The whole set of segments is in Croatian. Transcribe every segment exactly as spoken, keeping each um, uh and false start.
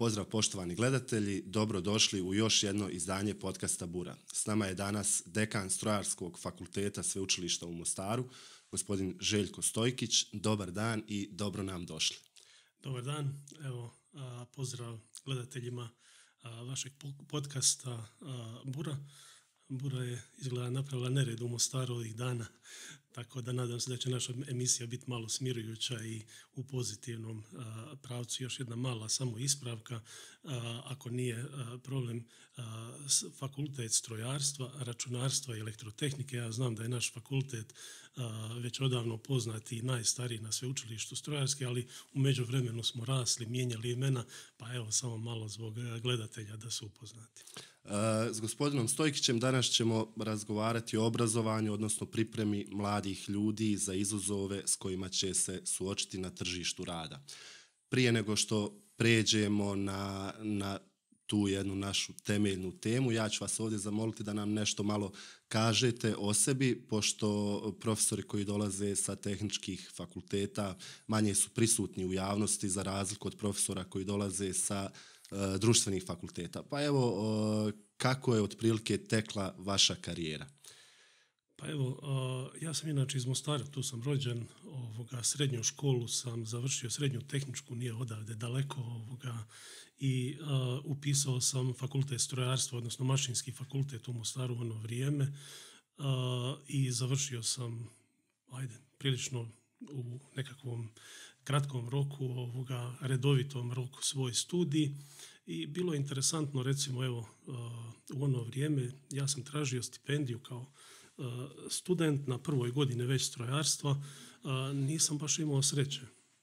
Pozdrav poštovani gledatelji, dobrodošli u još jedno izdanje podcasta Bura. S nama je danas dekan Strojarskog fakulteta Sveučilišta u Mostaru, gospodin Željko Stojkić. Dobar dan i dobro nam došli. Dobar dan, evo a, pozdrav gledateljima a, vašeg podcasta a, Bura. Bura je izgleda napravila nered u Mostaru ovih dana, tako da nadam se da će naša emisija biti malo smirujuća i u pozitivnom a, pravcu. Još jedna mala samo ispravka, a, ako nije a, problem a, fakultet strojarstva, računarstva i elektrotehnike. Ja znam da je naš fakultet a, već odavno poznat i najstariji na sveučilištu strojarski, ali u međuvremenu smo rasli, mijenjali imena, pa evo samo malo zbog gledatelja da su upoznati. Uh, s gospodinom Stojkićem danas ćemo razgovarati o obrazovanju, odnosno pripremi mladih ljudi za izazove s kojima će se suočiti na tržištu rada. Prije nego što pređemo na, na tu jednu našu temeljnu temu, ja ću vas ovdje zamoliti da nam nešto malo kažete o sebi, pošto profesori koji dolaze sa tehničkih fakulteta manje su prisutni u javnosti za razliku od profesora koji dolaze sa društvenih fakulteta. Pa evo, kako je otprilike tekla vaša karijera? Pa evo, ja sam inače iz Mostara, tu sam rođen, ovoga, srednju školu sam završio, srednju tehničku, nije odavde daleko, ovoga, i a, upisao sam fakultet strojarstva, odnosno mašinski fakultet u Mostaru u ono vrijeme a, i završio sam, ajde, prilično u nekakvom kratkom roku, ovoga, redovitom roku svoj studij. I bilo je interesantno, recimo, evo, u ono vrijeme ja sam tražio stipendiju kao student na prvoj godini već strojarstva, nisam baš imao sreće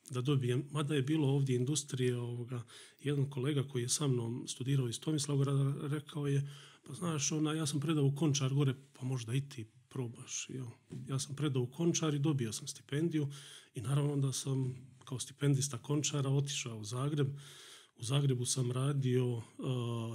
da dobijem, mada je bilo ovdje industrije, ovoga, jedan kolega koji je sa mnom studirao iz Tomislavgrada rekao je, pa znaš, ona, ja sam predao u Končar gore, pa možda i ti probaš. Jo. Ja sam predao u Končar i dobio sam stipendiju i naravno da sam kao stipendista Končara otišao u Zagreb. U Zagrebu sam radio uh,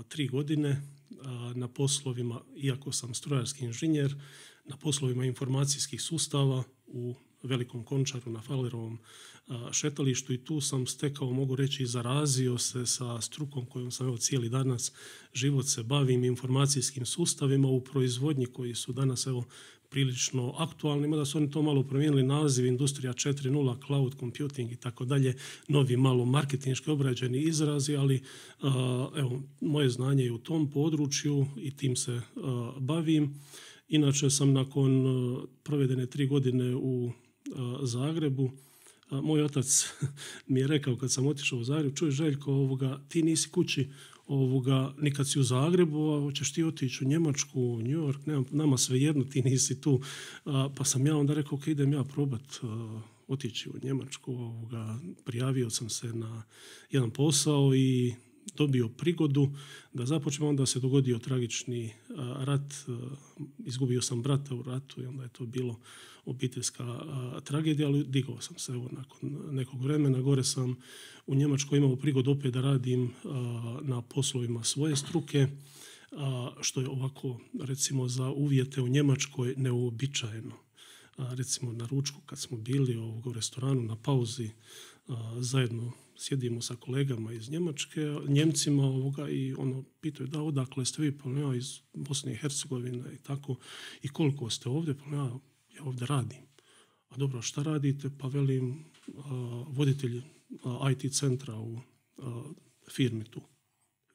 tri godine uh, na poslovima, iako sam strojarski inženjer, na poslovima informacijskih sustava u Velikom Končaru na Fallerovom uh, šetalištu i tu sam stekao, mogu reći, zarazio se sa strukom kojom sam evo cijeli danas život se bavim, informacijskim sustavima u proizvodnji koji su danas evo prilično aktualni, mada su oni to malo promijenili naziv, industrija četiri nula, cloud computing i tako dalje, novi malo marketinški obrađeni izrazi, ali uh, evo, moje znanje je u tom području i tim se uh, bavim. Inače sam nakon uh, provedene tri godine u uh, Zagrebu, uh, moj otac mi je rekao kad sam otišao u Zagreb, čuj Željko, ovoga, ti nisi kući ovoga, nikad si u Zagrebu, a hoćeš ti otići u Njemačku, u New York, nema, nama svejedno, ti nisi tu. A, pa sam ja onda rekao, ok, idem ja probat a, otići u Njemačku. Ovoga, prijavio sam se na jedan posao i dobio prigodu da započnem, onda se dogodio tragični a, rat, a, izgubio sam brata u ratu i onda je to bilo obiteljska a, tragedija, ali digao sam se evo, nakon nekog vremena. Gore sam u Njemačkoj imao prigodu opet da radim a, na poslovima svoje struke, a, što je ovako, recimo, za uvjete u Njemačkoj neuobičajeno. A, recimo na ručku kad smo bili ovog, u restoranu na pauzi, a, zajedno sjedimo sa kolegama iz Njemačke, Njemcima ovoga, i ono pitaju da odakle ste vi, pa ja iz Bosne i Hercegovine i tako, i koliko ste ovdje, pa ja, ja ovdje radim. A dobro, šta radite? Pa velim, a, voditelj a, I T centra u a, firmi tu.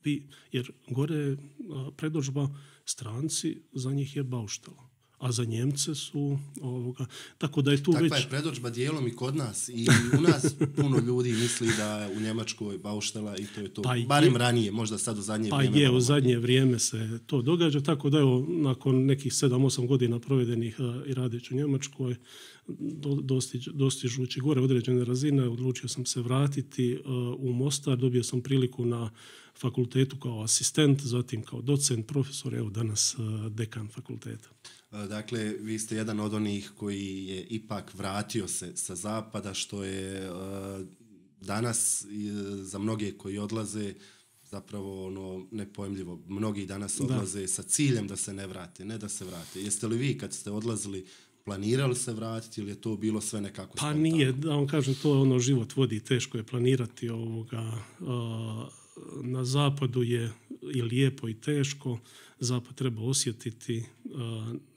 Vi, jer gore a, predodžba stranci, za njih je bauštela. A za Njemce su ovoga, tako da je tu Takva već... Takva je predodžba dijelom i kod nas i u nas puno ljudi misli da je u Njemačkoj bauštela i to je to. Pa barem je, ranije, možda sad u zadnje pa vrijeme. Pa je, u zadnje vrijeme se to događa, tako da evo, nakon nekih sedam osam godina provedenih a, i radeći u Njemačkoj, do, dostiž, dostižući gore određene razine, odlučio sam se vratiti a, u Mostar, dobio sam priliku na fakultetu kao asistent, zatim kao docent, profesor, evo danas a, dekan fakulteta. Dakle, vi ste jedan od onih koji je ipak vratio se sa zapada, što je uh, danas uh, za mnoge koji odlaze zapravo ono nepojmljivo. Mnogi danas odlaze da. sa ciljem da se ne vrate, ne da se vrate. Jeste li vi kad ste odlazili planirali se vratiti ili je to bilo sve nekako pa spontano? Nije, da vam kažem, to ono život vodi, teško je planirati ovoga. Uh, na zapadu je i lijepo i teško, zapad treba osjetiti,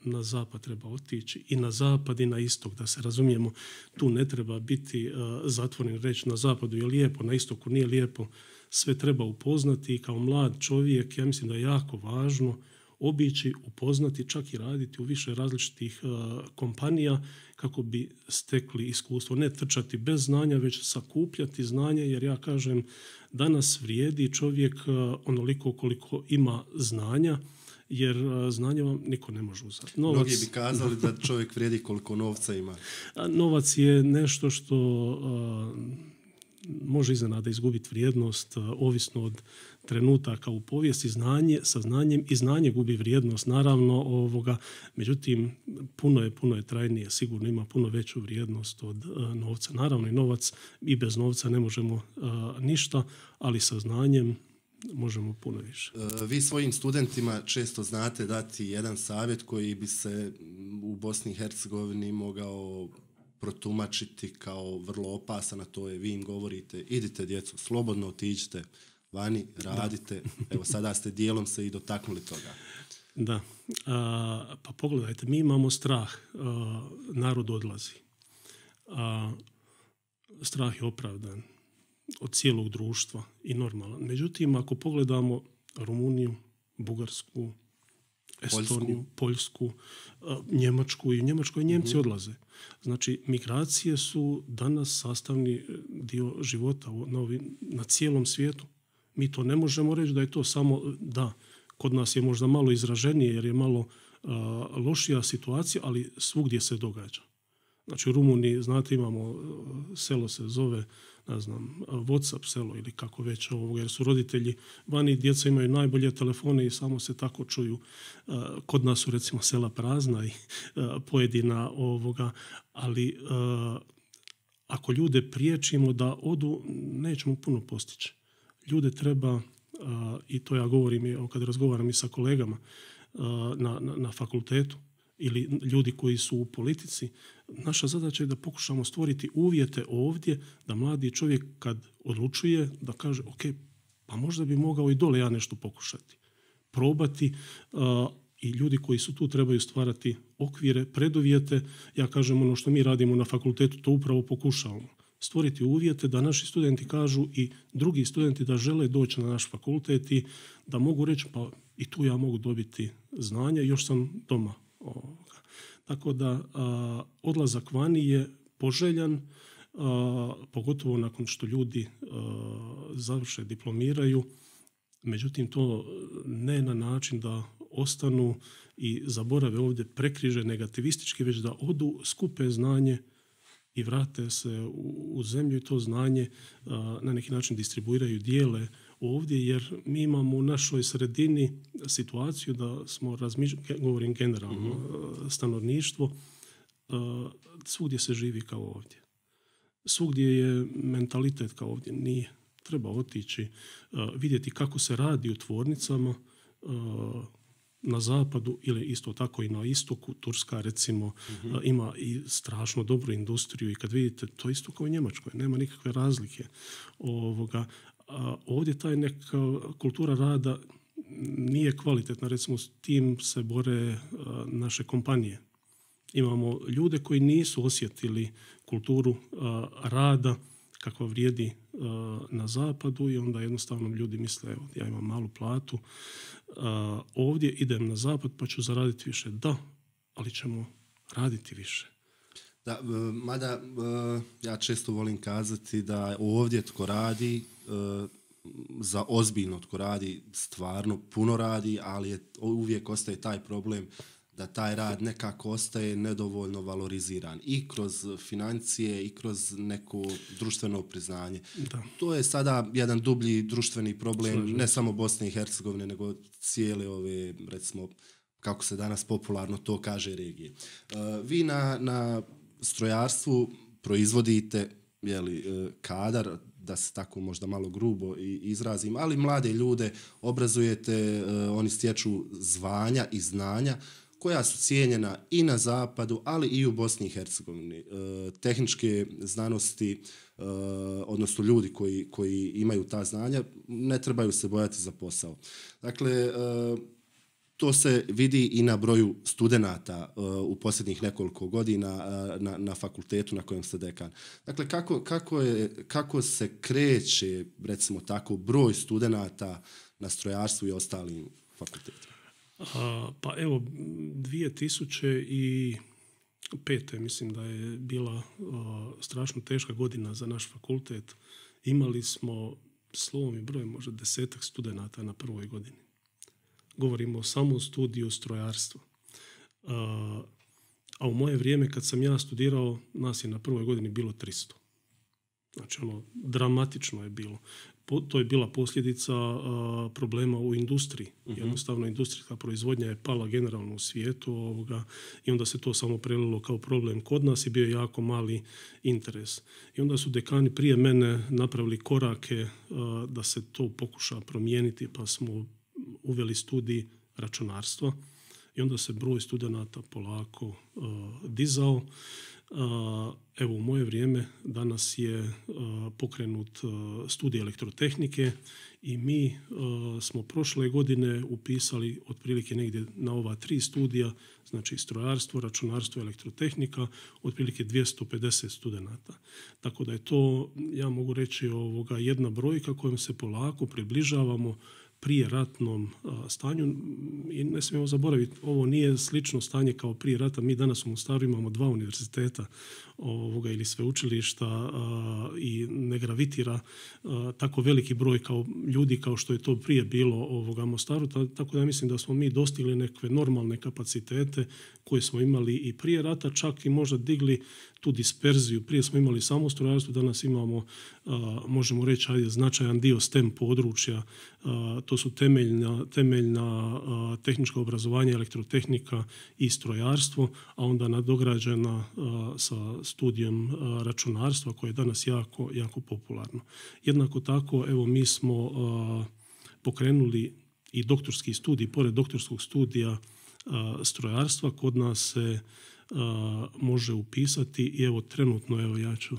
na zapad treba otići i na zapad i na istok, da se razumijemo. Tu ne treba biti zatvoren reći na zapadu je lijepo, na istoku nije lijepo. Sve treba upoznati i kao mlad čovjek, ja mislim da je jako važno obići, upoznati, čak i raditi u više različitih uh, kompanija kako bi stekli iskustvo. Ne trčati bez znanja, već sakupljati znanje, jer ja kažem, danas vrijedi čovjek uh, onoliko koliko ima znanja, jer uh, znanje vam niko ne može uzeti. Novac, mnogi bi kazali da čovjek vrijedi koliko novca ima. Novac je nešto što uh, može iznenada izgubiti vrijednost, uh, ovisno od trenutaka u povijesti. Znanje sa znanjem i znanje gubi vrijednost, naravno, ovoga, međutim, puno je, puno je trajnije, sigurno ima puno veću vrijednost od uh, novca. Naravno i novac, i bez novca ne možemo uh, ništa, ali sa znanjem možemo puno više. Vi svojim studentima često znate dati jedan savjet koji bi se u Bosni i Hercegovini mogao protumačiti kao vrlo opasan, a to je vi im govorite, idite djeco, slobodno otiđite vani, radite. Da. Evo sada ste dijelom se i dotaknuli toga. Da, a, pa pogledajte, mi imamo strah, a, narod odlazi. A, strah je opravdan od cijelog društva i normalan. Međutim, ako pogledamo Rumuniju, Bugarsku, Estoniju, Poljsku, Poljsku Njemačku, i u Njemačkoj Njemci uh-huh. odlaze. Znači, migracije su danas sastavni dio života na, ovi, na cijelom svijetu. Mi to ne možemo reći da je to samo, da, kod nas je možda malo izraženije jer je malo uh, lošija situacija, ali svugdje se događa. Znači, u Rumuniji, znate, imamo uh, selo se zove, ne znam, WhatsApp selo ili kako već ovoga, jer su roditelji vani, djeca imaju najbolje telefone i samo se tako čuju. Uh, kod nas su recimo sela prazna i uh, pojedina ovoga, ali uh, ako ljude priječimo da odu, nećemo puno postići. Ljude treba, uh, i to ja govorim i kad razgovaram i sa kolegama uh, na, na, na fakultetu ili ljudi koji su u politici, naša zadaća je da pokušamo stvoriti uvjete ovdje da mladi čovjek kad odlučuje da kaže ok, pa možda bi mogao i dole ja nešto pokušati. Probati uh, i ljudi koji su tu trebaju stvarati okvire, preduvjete. Ja kažem ono što mi radimo na fakultetu, to upravo pokušavamo. Stvoriti uvjete da naši studenti kažu i drugi studenti da žele doći na naš fakultet i da mogu reći pa i tu ja mogu dobiti znanje, još sam doma. Ovoga. Tako da a, odlazak vani je poželjan, a, pogotovo nakon što ljudi a, završe, diplomiraju. Međutim, to ne na način da ostanu i zaborave ovdje prekriže negativistički, već da odu, skupe znanje i vrate se u, u zemlju i to znanje a, na neki način distribuiraju, dijele ovdje, jer mi imamo u našoj sredini situaciju da smo, razmišljali, govorim generalno, mm-hmm. stanovništvo, a, svugdje se živi kao ovdje. Svugdje je mentalitet kao ovdje. Nije. Treba otići, a, vidjeti kako se radi u tvornicama, a, na zapadu ili isto tako i na istoku. Turska recimo uh-huh. ima i strašno dobru industriju i kad vidite to isto kao u Njemačkoj, nema nikakve razlike. Ovoga, a ovdje taj neka kultura rada nije kvalitetna, recimo s tim se bore a, naše kompanije. Imamo ljude koji nisu osjetili kulturu a, rada kakva vrijedi a, na zapadu i onda jednostavno ljudi misle evo, ja imam malu platu, a, ovdje idem na zapad pa ću zaraditi više. Da, ali ćemo raditi više. Da, mada ja često volim kazati da ovdje tko radi, za ozbiljno tko radi, stvarno puno radi, ali je, uvijek ostaje taj problem da taj rad nekako ostaje nedovoljno valoriziran i kroz financije i kroz neko društveno priznanje. Da. To je sada jedan dublji društveni problem, Slažem. ne samo Bosne i Hercegovine, nego cijele ove, recimo, kako se danas popularno to kaže, regije. Uh, vi na, na strojarstvu proizvodite jeli, kadar, da se tako možda malo grubo izrazim, ali mlade ljude obrazujete, uh, oni stječu zvanja i znanja koja su cijenjena i na zapadu, ali i u Bosni i Hercegovini. E, tehničke znanosti, e, odnosno ljudi koji, koji imaju ta znanja, ne trebaju se bojati za posao. Dakle, e, to se vidi i na broju studenata uh, u posljednjih nekoliko godina uh, na, na fakultetu na kojem ste dekan. Dakle, kako, kako, je, kako se kreće, recimo tako, broj studenata na strojarstvu i ostalim fakultetima? A, pa evo, dvije tisuće pete mislim da je bila a, strašno teška godina za naš fakultet. Imali smo slovom i brojem možda desetak studenata na prvoj godini. Govorimo samo o studiju strojarstva. A, a u moje vrijeme kad sam ja studirao, nas je na prvoj godini bilo tristo. Znači ono, dramatično je bilo. Po, to je bila posljedica a, problema u industriji. Uh-huh. Jednostavno industrijska proizvodnja je pala generalno u svijetu ovoga, i onda se to samo prelilo kao problem kod nas i bio je jako mali interes. I onda su dekani prije mene napravili korake a, da se to pokuša promijeniti, pa smo uveli studij računarstva i onda se broj studenata polako uh, dizao. Uh, evo, u moje vrijeme danas je uh, pokrenut uh, studij elektrotehnike i mi uh, smo prošle godine upisali otprilike negdje na ova tri studija, znači strojarstvo, računarstvo i elektrotehnika, otprilike dvjesto pedeset studenata. Tako da je to, ja mogu reći, ovoga, jedna brojka kojom se polako približavamo prije ratnom a, stanju. I ne smijemo zaboraviti, ovo nije slično stanje kao prije rata. Mi danas u Mostaru imamo dva univerziteta ovoga, ili sveučilišta a, i ne gravitira a, tako veliki broj kao ljudi kao što je to prije bilo ovoga Mostaru. Ta, tako da ja mislim da smo mi dostigli neke normalne kapacitete koje smo imali i prije rata, čak i možda digli tu disperziju. Prije smo imali samo strojarstvo, danas imamo, a, možemo reći, ajde, značajan dio STEM područja. A, to su temeljna, temeljna a, tehnička obrazovanja, elektrotehnika i strojarstvo, a onda nadograđena a, sa studijem a, računarstva koje je danas jako, jako popularno. Jednako tako, evo, mi smo a, pokrenuli i doktorski studij, pored doktorskog studija a, strojarstva, kod nas se Uh, može upisati i evo trenutno, evo ja ću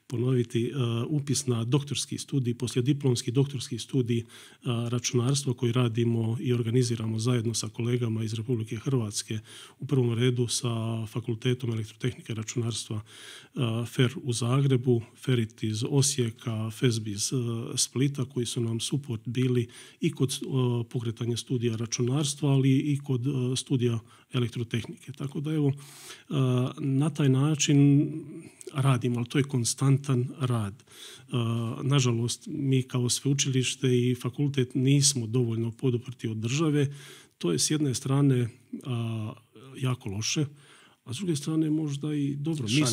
ponoviti, uh, upis na doktorski studij, poslijediplomski doktorski studij uh, računarstva koji radimo i organiziramo zajedno sa kolegama iz Republike Hrvatske, u prvom redu sa Fakultetom elektrotehnike i računarstva uh, F E R u Zagrebu, Ferit iz Osijeka, F E S B iz uh, Splita, koji su nam suport bili i kod uh, pokretanja studija računarstva, ali i kod uh, studija elektrotehnike. Tako da evo, na taj način radimo, ali to je konstantan rad. Nažalost, mi kao sveučilište i fakultet nismo dovoljno poduprti od države. To je s jedne strane jako loše, a s druge strane možda i dobro. Mi,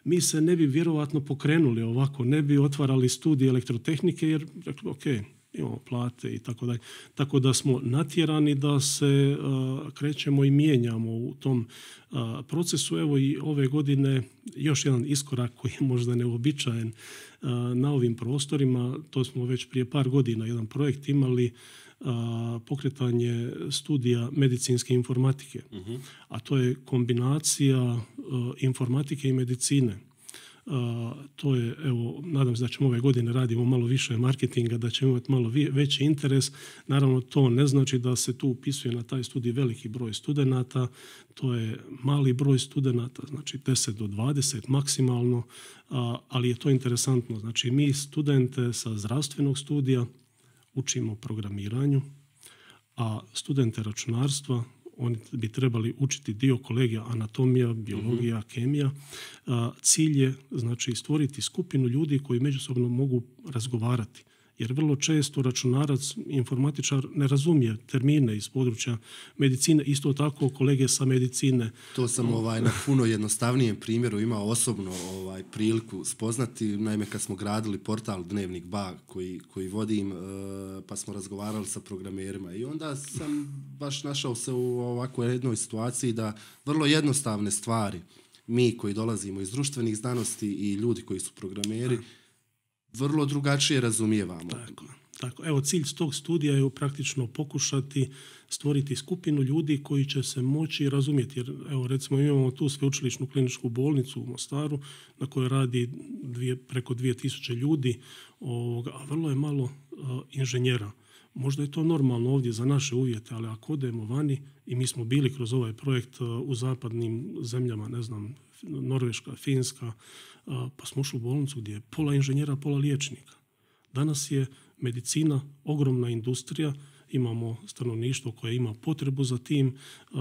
mi se ne bi vjerovatno pokrenuli ovako, ne bi otvarali studij elektrotehnike jer rekli, ok, imamo plate i tako dalje. Tako da smo natjerani da se uh, krećemo i mijenjamo u tom uh, procesu. Evo i ove godine još jedan iskorak koji je možda neobičajen uh, na ovim prostorima. To smo već prije par godina jedan projekt imali, uh, pokretanje studija medicinske informatike. Uh-huh. A to je kombinacija uh, informatike i medicine. Uh, to je, evo, nadam se da ćemo ove godine radimo malo više marketinga, da ćemo imati malo veći interes. Naravno, to ne znači da se tu upisuje na taj studij veliki broj studenata, to je mali broj studenata, znači deset do dvadeset maksimalno, uh, ali je to interesantno. Znači, mi studente sa zdravstvenog studija učimo programiranju, a studente računarstva oni bi trebali učiti dio kolegija anatomija, biologija, mm-hmm. kemija. A, cilj je, znači, stvoriti skupinu ljudi koji međusobno mogu razgovarati. Jer vrlo često računarac, informatičar ne razumije termine iz područja medicine, isto tako kolege sa medicine. To sam ovaj, na puno jednostavnijem primjeru imao osobno ovaj, priliku spoznati. Naime, kad smo gradili portal Dnevnik Ba koji, koji vodim, pa smo razgovarali sa programerima i onda sam baš našao se u ovakvoj jednoj situaciji da vrlo jednostavne stvari, mi koji dolazimo iz društvenih znanosti i ljudi koji su programeri, vrlo drugačije razumijevamo. Tako, Tako, evo, cilj tog studija je praktično pokušati stvoriti skupinu ljudi koji će se moći razumjeti. Jer, evo, recimo, imamo tu sveučilišnu kliničku bolnicu u Mostaru na kojoj radi dvije, preko dvije tisuće ljudi, ovoga, a vrlo je malo uh, inženjera. Možda je to normalno ovdje za naše uvjete, ali ako odemo vani, i mi smo bili kroz ovaj projekt uh, u zapadnim zemljama, ne znam, Norveška, Finska, uh, pa smo ušli u bolnicu gdje je pola inženjera, pola liječnika. Danas je medicina ogromna industrija, imamo stanovništvo koje ima potrebu za tim, uh,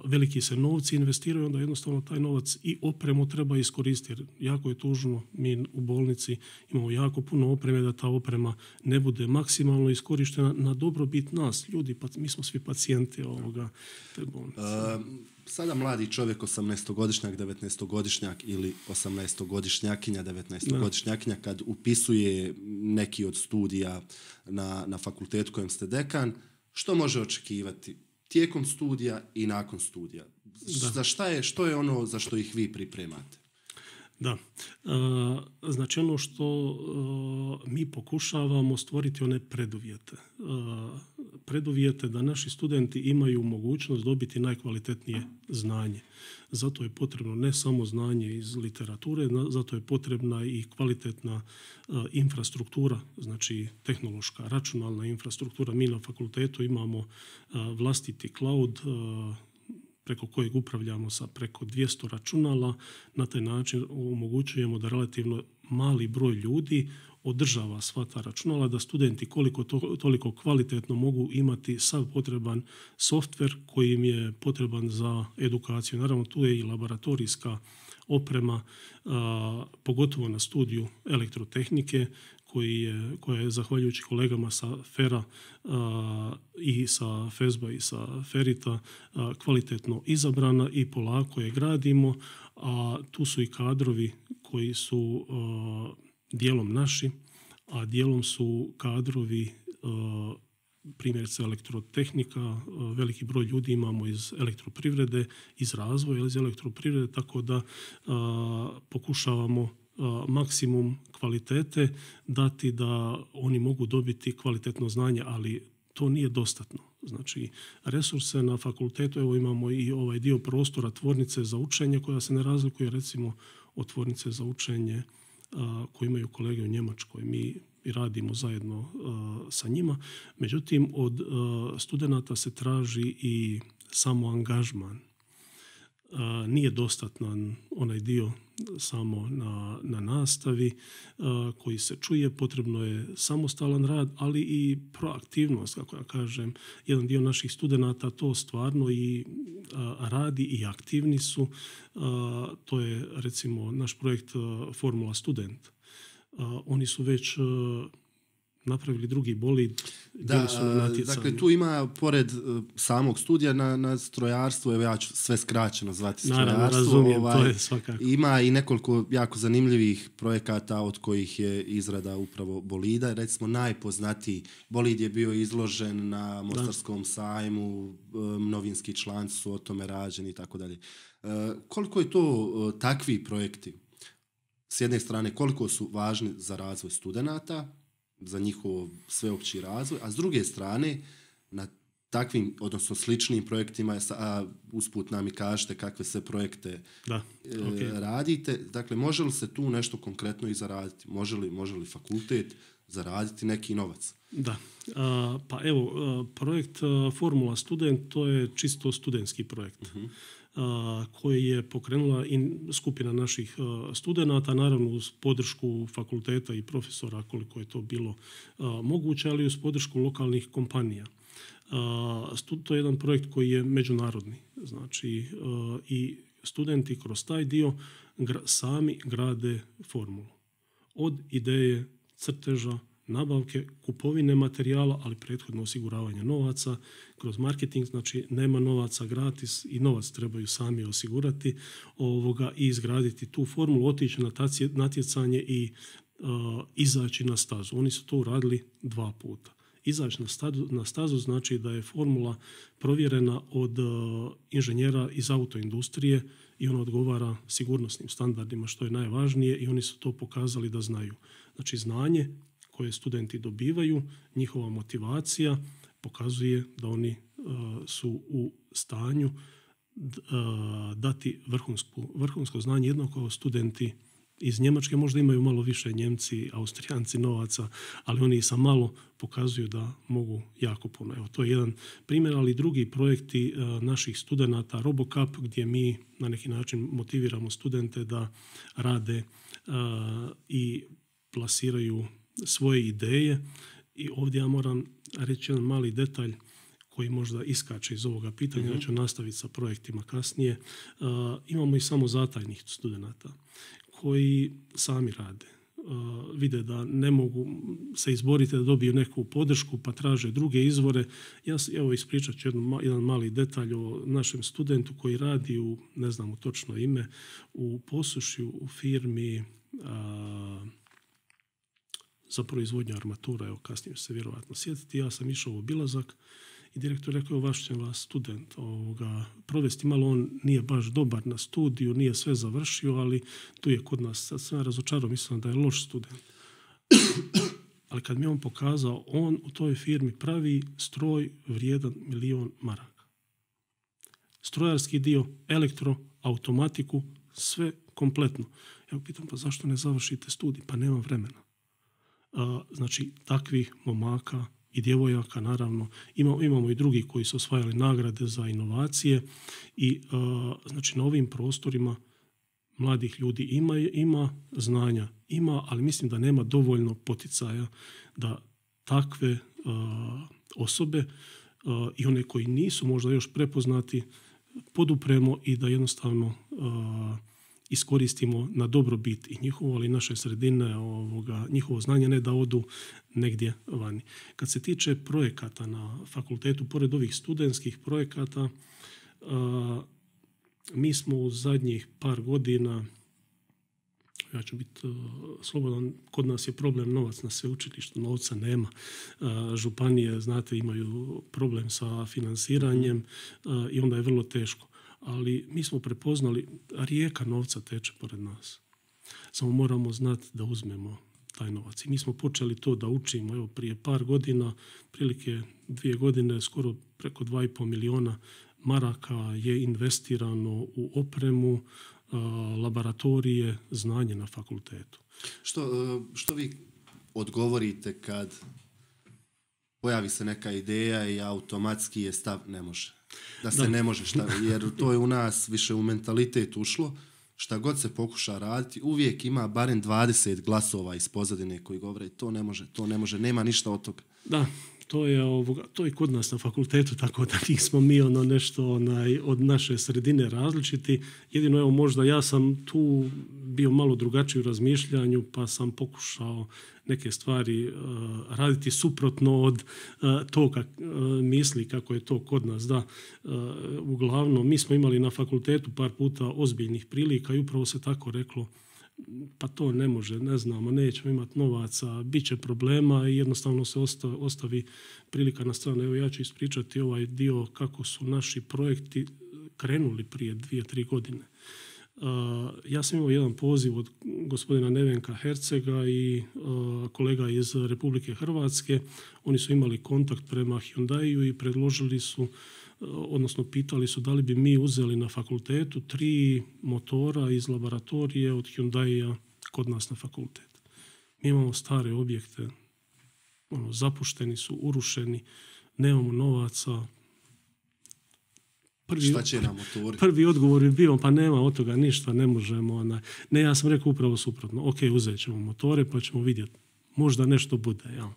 veliki se novci investiraju, onda jednostavno taj novac i opremu treba iskoristiti. Jer jako je tužno, mi u bolnici imamo jako puno opreme da ta oprema ne bude maksimalno iskorištena na dobrobit nas, ljudi, pa mi smo svi pacijenti ovoga te bolnice. Uh, sada mladi čovjek, osamnaestogodišnjak, devetnaestogodišnjak ili osamnaestogodišnjakinja, devetnaestogodišnjakinja, kad upisuje neki od studija na, na fakultetu kojem ste dekan, što može očekivati tijekom studija i nakon studija? Da. Za šta je, što je ono za što ih vi pripremate? Da. E, znači ono što e, mi pokušavamo stvoriti one preduvjete. E, preduvjete da naši studenti imaju mogućnost dobiti najkvalitetnije znanje. Zato je potrebno ne samo znanje iz literature, zato je potrebna i kvalitetna e, infrastruktura, znači tehnološka, računalna infrastruktura. Mi na fakultetu imamo e, vlastiti cloud, e, preko kojeg upravljamo sa preko dvjesto računala. Na taj način omogućujemo da relativno mali broj ljudi održava sva ta računala, da studenti koliko to, toliko kvalitetno mogu imati sav potreban softver koji im je potreban za edukaciju. Naravno, tu je i laboratorijska oprema, a, pogotovo na studiju elektrotehnike, koji je, koja je, zahvaljujući kolegama sa Fera a, i sa Fezba i sa Ferita, a, kvalitetno izabrana i polako je gradimo, a tu su i kadrovi koji su a, dijelom naši, a dijelom su kadrovi a, primjerice elektrotehnika, veliki broj ljudi imamo iz elektroprivrede, iz razvoja iz elektroprivrede, tako da a, pokušavamo a, maksimum kvalitete dati da oni mogu dobiti kvalitetno znanje, ali to nije dostatno. Znači, resurse na fakultetu, evo imamo i ovaj dio prostora tvornice za učenje koja se ne razlikuje recimo od tvornice za učenje a, koje imaju kolege u Njemačkoj. Mi i radimo zajedno uh, sa njima. Međutim, od uh, studenata se traži i samo angažman. Uh, nije dostatan onaj dio samo na, na nastavi uh, koji se čuje. Potrebno je samostalan rad, ali i proaktivnost, kako ja kažem. Jedan dio naših studenata to stvarno i uh, radi i aktivni su. Uh, to je recimo naš projekt uh, Formula Student. Uh, oni su već uh, napravili drugi bolid. Da, su na dakle tu ima pored uh, samog studija na, na strojarstvu, evo ja ću sve skraćeno zvati strojarstvo. Naravno, razumijem, ovaj, to je svakako. Ima i nekoliko jako zanimljivih projekata od kojih je izrada upravo bolida. Recimo najpoznatiji bolid je bio izložen na Mostarskom da. sajmu, um, novinski članci su o tome rađeni i tako dalje. Uh, koliko je to uh, takvi projekti? S jedne strane, koliko su važni za razvoj studenata, za njihov sveopći razvoj, a s druge strane, na takvim, odnosno sličnim projektima, a usput nam i kažete kakve sve projekte da, okay. radite. Dakle, može li se tu nešto konkretno i zaraditi? Može li, može li fakultet zaraditi neki novac? Da, a, pa evo, projekt Formula Student, to je čisto studentski projekt. Uh-huh. koji je pokrenula i skupina naših studenata, naravno uz podršku fakulteta i profesora koliko je to bilo moguće, ali uz podršku lokalnih kompanija. To je jedan projekt koji je međunarodni, znači i studenti kroz taj dio sami grade formulu. Od ideje, crteža, nabavke, kupovine materijala, ali prethodno osiguravanje novaca kroz marketing, znači nema novaca gratis i novac trebaju sami osigurati ovoga i izgraditi tu formulu, otići na natjecanje i uh, izaći na stazu. Oni su to uradili dva puta. Izaći na stazu, na stazu znači da je formula provjerena od uh, inženjera iz autoindustrije i ona odgovara sigurnosnim standardima, što je najvažnije, i oni su to pokazali da znaju. Znači znanje koje studenti dobivaju, njihova motivacija pokazuje da oni su u stanju dati vrhunsko, vrhunsko znanje, jednako kao studenti iz Njemačke. Možda imaju malo više Njemci, Austrijanci novaca, ali oni sa malo pokazuju da mogu jako puno. Evo, to je jedan primjer, ali drugi projekti naših studenata, RoboCup, gdje mi na neki način motiviramo studente da rade i plasiraju svoje ideje. I ovdje ja moram reći jedan mali detalj koji možda iskače iz ovoga pitanja, mm-hmm. ja ću nastaviti sa projektima kasnije. Uh, imamo i samo zatajnih studenata koji sami rade. Uh, vide da ne mogu se izboriti da dobiju neku podršku pa traže druge izvore. Ja evo ispričat ću jedan, jedan mali detalj o našem studentu koji radi u, ne znam u točno ime, u Posušju u firmi uh, za proizvodnju armatura. Evo kasnije ću se vjerovatno sjetiti. Ja sam išao u obilazak i direktor rekao, vaš će vas student ovoga, provesti malo, on nije baš dobar na studiju, nije sve završio, ali tu je kod nas. Sad sam razočarao, mislim da je loš student. Ali kad mi on pokazao, on u toj firmi pravi stroj vrijedan milion maraka. Strojarski dio, elektro, automatiku, sve kompletno. Ja pitam, pa zašto ne završite studij? Pa nema vremena. A, znači, takvih momaka i djevojaka, naravno, imamo, imamo i drugi koji su osvajali nagrade za inovacije i uh, znači na ovim prostorima mladih ljudi ima, ima znanja, ima, ali mislim da nema dovoljno poticaja da takve uh, osobe uh, i one koji nisu možda još prepoznati podupremo i da jednostavno uh, iskoristimo na dobrobit i njihovo, ali i naše sredine, ovoga, njihovo znanje, ne da odu negdje vani. Kad se tiče projekata na fakultetu, pored ovih studentskih projekata, a, mi smo u zadnjih par godina, ja ću biti uh, slobodan, kod nas je problem novac na sveučilištu, novca nema. Uh, županije, znate, imaju problem sa finansiranjem uh, i onda je vrlo teško. Ali mi smo prepoznali, rijeka novca teče pored nas. Samo moramo znati da uzmemo taj novac. I mi smo počeli to da učimo. Evo, prije par godina, prilike dvije godine, skoro preko dva i pol miliona maraka je investirano u opremu, laboratorije, znanje na fakultetu. Što, što vi odgovorite kad pojavi se neka ideja i automatski je stav ne može? Da se da. ne može šta, jer to je u nas više u mentalitet ušlo. Šta god se pokuša raditi, uvijek ima barem dvadeset glasova iz pozadine koji govore to ne može, to ne može, nema ništa od toga. Da, to je, ovoga, to je kod nas na fakultetu, tako da nismo mi ono nešto onaj, od naše sredine različiti. Jedino evo možda ja sam tu bio malo drugačiji u razmišljanju, pa sam pokušao neke stvari uh, raditi suprotno od uh, toga uh, misli kako je to kod nas. Da, uh, uglavnom, mi smo imali na fakultetu par puta ozbiljnih prilika i upravo se tako reklo, pa to ne može, ne znamo, nećemo imati novaca, bit će problema i jednostavno se ostavi, ostavi prilika na stranu. Evo ja ću ispričati ovaj dio kako su naši projekti krenuli prije dvije, tri godine. Uh, ja sam imao jedan poziv od gospodina Nevenka Hercega i uh, kolega iz Republike Hrvatske. Oni su imali kontakt prema Hyundaiu i predložili su, uh, odnosno pitali su da li bi mi uzeli na fakultetu tri motora iz laboratorije od Hyundaia kod nas na fakultet. Mi imamo stare objekte, ono, zapušteni su, urušeni, nemamo novaca. Prvi, Šta će nam motori? Prvi odgovor je bio, pa nema od toga ništa, ne možemo. Ona. Ne, ja sam rekao upravo suprotno. Ok, uzet ćemo motore pa ćemo vidjeti. Možda nešto bude. Ja.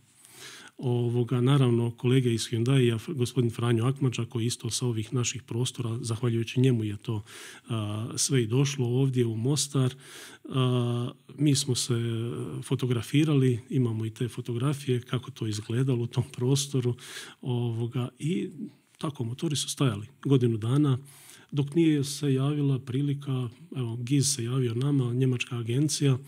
Ovoga, naravno, kolege iz Hyundaia, gospodin Franjo Akmađa, koji isto sa ovih naših prostora, zahvaljujući njemu je to a, sve i došlo ovdje u Mostar. A, mi smo se fotografirali, imamo i te fotografije, kako to izgledalo u tom prostoru. Ovoga, i tako, motori su stajali godinu dana, dok nije se javila prilika, evo, G I Z se javio nama, njemačka agencija,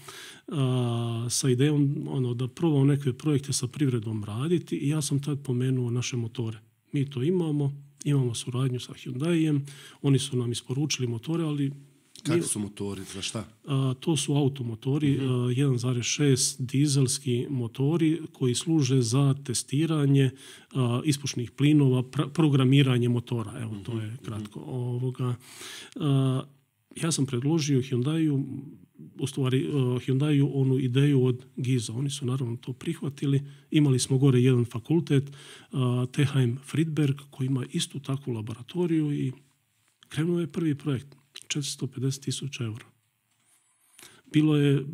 a, sa idejom ono, da probamo neke projekte sa privredom raditi i ja sam tad pomenuo naše motore. Mi to imamo, imamo suradnju sa Hyundaijem, oni su nam isporučili motore, ali Kakvi su motori, za šta? A, to su automotori, uh-huh. jedan zarez šest dizelski motori koji služe za testiranje a, ispušnih plinova, pra, programiranje motora. Evo, uh-huh. to je kratko. Uh-huh. Ovoga, a, ja sam predložio Hyundaiu, u stvari uh, Hyundaiu onu ideju od Giza. Oni su naravno to prihvatili. Imali smo gore jedan fakultet, uh, T H M Friedberg, koji ima istu takvu laboratoriju i krenuo je prvi projekt. četiristo pedeset tisuća eura. Bilo je,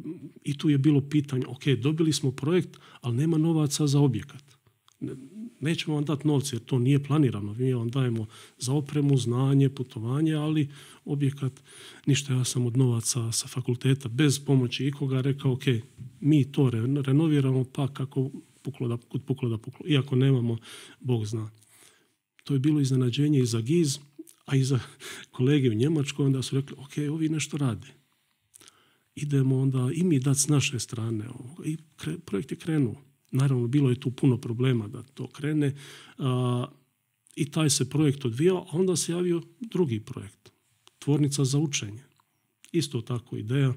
i tu je bilo pitanje, ok, dobili smo projekt, ali nema novaca za objekat. Nećemo vam dati novce jer to nije planirano. Mi vam dajemo za opremu, znanje, putovanje, ali objekat, ništa. Ja sam od novaca sa fakulteta bez pomoći ikoga rekao, ok, mi to renoviramo, pa kako puklo da, kud puklo da puklo. Iako nemamo, Bog zna. To je bilo iznenađenje i za Giz, a i za kolege u Njemačkoj. Onda su rekli, ok, ovi nešto rade. Idemo onda i mi dati s naše strane. I kre, projekt je krenuo. Naravno, bilo je tu puno problema da to krene a, i taj se projekt odvijao, a onda se javio drugi projekt, tvornica za učenje. Isto tako ideja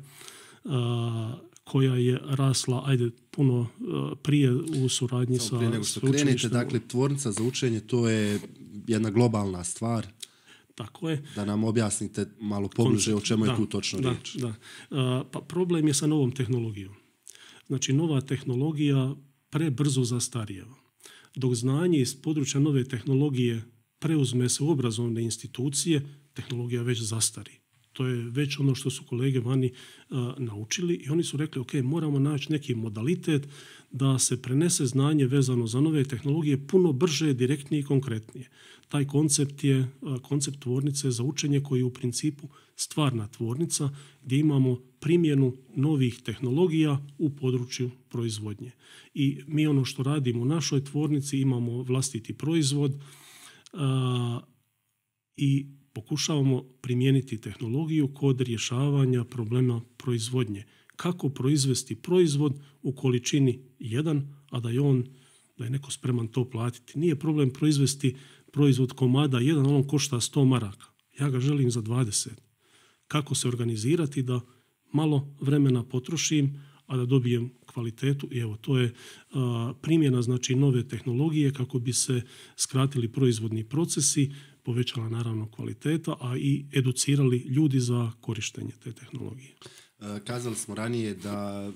a, koja je rasla, ajde, puno a, prije u suradnji Samo sa prije nego što krenete, dakle, tvornica za učenje, to je jedna globalna stvar. Tako je. Da nam objasnite malo pobliže Koncept, o čemu je da, tu točno da, riječ. Da. A, pa problem je sa novom tehnologijom. Znači, nova tehnologija prebrzo zastarijeva. Dok znanje iz područja nove tehnologije preuzme se u obrazovne institucije, tehnologija već zastari. To je već ono što su kolege vani a, naučili i oni su rekli, ok, moramo naći neki modalitet da se prenese znanje vezano za nove tehnologije puno brže, direktnije i konkretnije. Taj koncept je a, koncept tvornice za učenje koji je u principu stvarna tvornica gdje imamo primjenu novih tehnologija u području proizvodnje. I mi ono što radimo u našoj tvornici, imamo vlastiti proizvod a, i pokušavamo primijeniti tehnologiju kod rješavanja problema proizvodnje. Kako proizvesti proizvod u količini jedan, a da je on, da je neko spreman to platiti. Nije problem proizvesti proizvod komada jedan, on košta sto maraka. Ja ga želim za dvadeset. Kako se organizirati da malo vremena potrošim, a da dobijem kvalitetu. I evo, to je a, primjena znači nove tehnologije kako bi se skratili proizvodni procesi, povećala naravno kvaliteta, a i educirali ljudi za korištenje te tehnologije. Kazali smo ranije da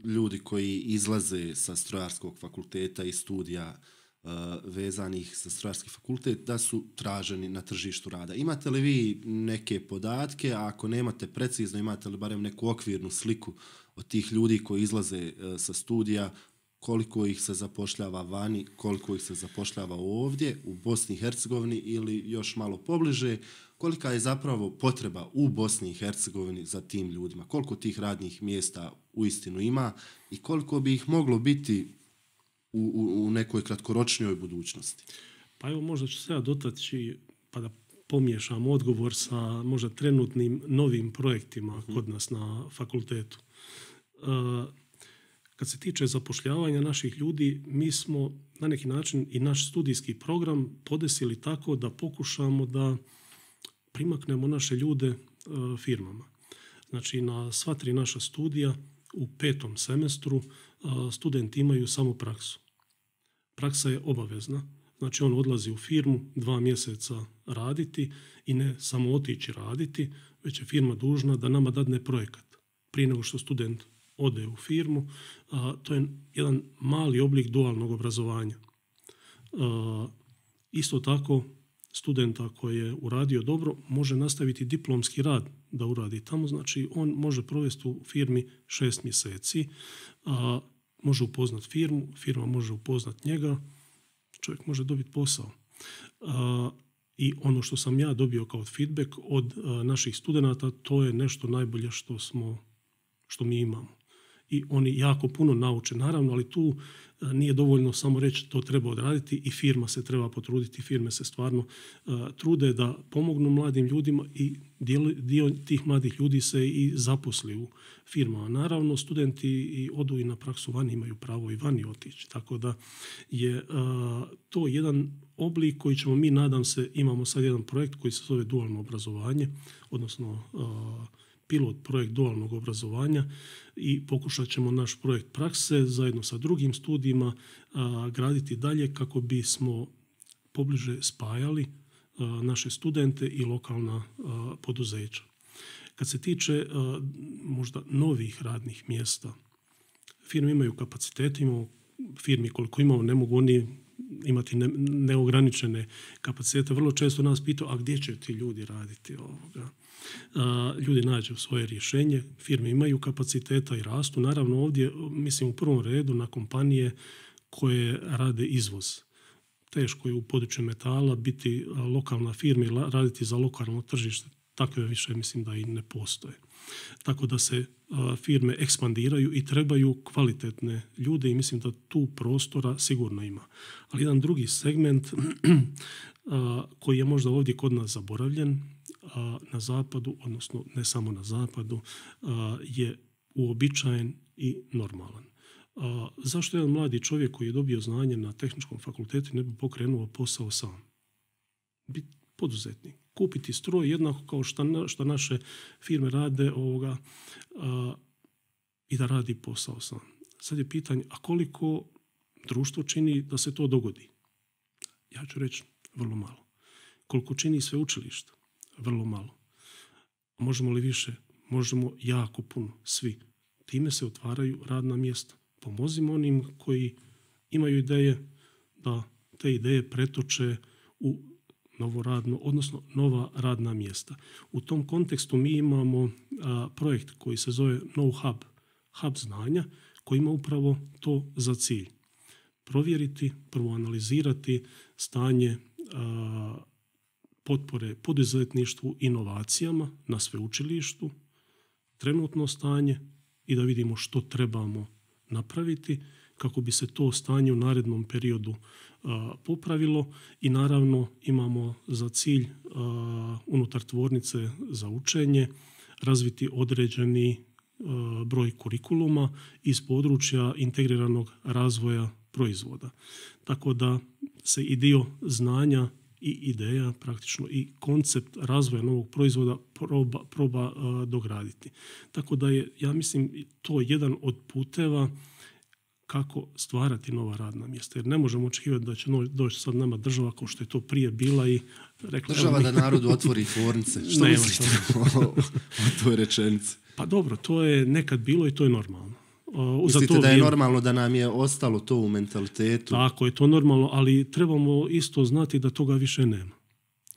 ljudi koji izlaze sa strojarskog fakulteta i studija uh, vezanih za strojarski fakultet, da su traženi na tržištu rada. Imate li vi neke podatke, a ako nemate precizno, imate li barem neku okvirnu sliku od tih ljudi koji izlaze uh, sa studija, koliko ih se zapošljava vani, koliko ih se zapošljava ovdje, u Bosni i Hercegovini ili još malo pobliže, kolika je zapravo potreba u Bosni i Hercegovini za tim ljudima, koliko tih radnih mjesta uistinu ima i koliko bi ih moglo biti u, u, u nekoj kratkoročnijoj budućnosti. Pa evo, možda ću se ja dotaći pa da pomiješam odgovor sa možda trenutnim novim projektima hmm. kod nas na fakultetu. Uh, Kad se tiče zapošljavanja naših ljudi, mi smo na neki način i naš studijski program podesili tako da pokušamo da primaknemo naše ljude e, firmama. Znači, na sva tri naša studija u petom semestru e, studenti imaju samo praksu. Praksa je obavezna. Znači, on odlazi u firmu dva mjeseca raditi i ne samo otići raditi, već je firma dužna da nama dadne projekat prije nego što student ode u firmu. A, to je jedan mali oblik dualnog obrazovanja. A, isto tako, studenta koji je uradio dobro može nastaviti diplomski rad da uradi tamo. Znači, on može provesti u firmi šest mjeseci, a, može upoznat firmu, firma može upoznat njega, čovjek može dobiti posao. A, I ono što sam ja dobio kao feedback od a, naših studenata, to je nešto najbolje što smo, što mi imamo. I oni jako puno nauče, naravno, ali tu nije dovoljno samo reći to treba odraditi i firma se treba potruditi. Firme se stvarno uh, trude da pomognu mladim ljudima i dio, dio tih mladih ljudi se i zaposli u firmama. Naravno, studenti i odu i na praksu vani, imaju pravo i vani otići. Tako da je uh, to jedan oblik koji ćemo mi, nadam se, imamo sad jedan projekt koji se zove dualno obrazovanje, odnosno a, pilot projekt dualnog obrazovanja i pokušat ćemo naš projekt prakse zajedno sa drugim studijima a, graditi dalje kako bismo pobliže spajali a, naše studente i lokalna a, poduzeća. Kad se tiče a, možda novih radnih mjesta, firme imaju kapacitete, imamo firmi koliko imamo, ne mogu oni imati ne, neograničene kapacitete. Vrlo često nas pitaju, a gdje će ti ljudi raditi ovoga? A, ljudi nađu svoje rješenje, firme imaju kapaciteta i rastu. Naravno ovdje, mislim u prvom redu na kompanije koje rade izvoz. Teško je u području metala biti lokalna firma i raditi za lokalno tržište. Takve više mislim da i ne postoje. Tako da se a, firme ekspandiraju i trebaju kvalitetne ljude i mislim da tu prostora sigurno ima. Ali jedan drugi segment a, koji je možda ovdje kod nas zaboravljen, a, na zapadu, odnosno ne samo na zapadu, a, je uobičajen i normalan. A, zašto jedan mladi čovjek koji je dobio znanje na tehničkom fakultetu ne bi pokrenuo posao sam? Biti poduzetnik. Kupiti stroj jednako kao što, na, što naše firme rade ovoga, a, i da radi posao sam. Sad je pitanje, a koliko društvo čini da se to dogodi? Ja ću reći vrlo malo. Koliko čini sveučilište? Vrlo malo. Možemo li više? Možemo jako puno, svi. Time se otvaraju radna mjesta. Pomozimo onim koji imaju ideje da te ideje pretoče u novo radno, odnosno nova radna mjesta. U tom kontekstu mi imamo a, projekt koji se zove KnowHub, hub znanja, koji ima upravo to za cilj. Provjeriti, prvo analizirati stanje a, potpore poduzetništvu, inovacijama na sveučilištu, trenutno stanje i da vidimo što trebamo napraviti kako bi se to stanje u narednom periodu a, popravilo i naravno imamo za cilj a, unutar tvornice za učenje razviti određeni a, broj kurikuluma iz područja integriranog razvoja proizvoda. Tako da se i dio znanja i ideja, praktično i koncept razvoja novog proizvoda proba, proba a, dograditi. Tako da je, ja mislim, to jedan od puteva kako stvarati nova radna mjesta. Jer ne možemo očekivati da će doći sad nama država kao što je to prije bila i rekla... Država da narodu otvori tvornice. Što mislite o, o toj rečenici? Pa dobro, to je nekad bilo i to je normalno. Uh, Mislite da je normalno da nam je ostalo to u mentalitetu? Tako je to normalno, ali trebamo isto znati da toga više nema.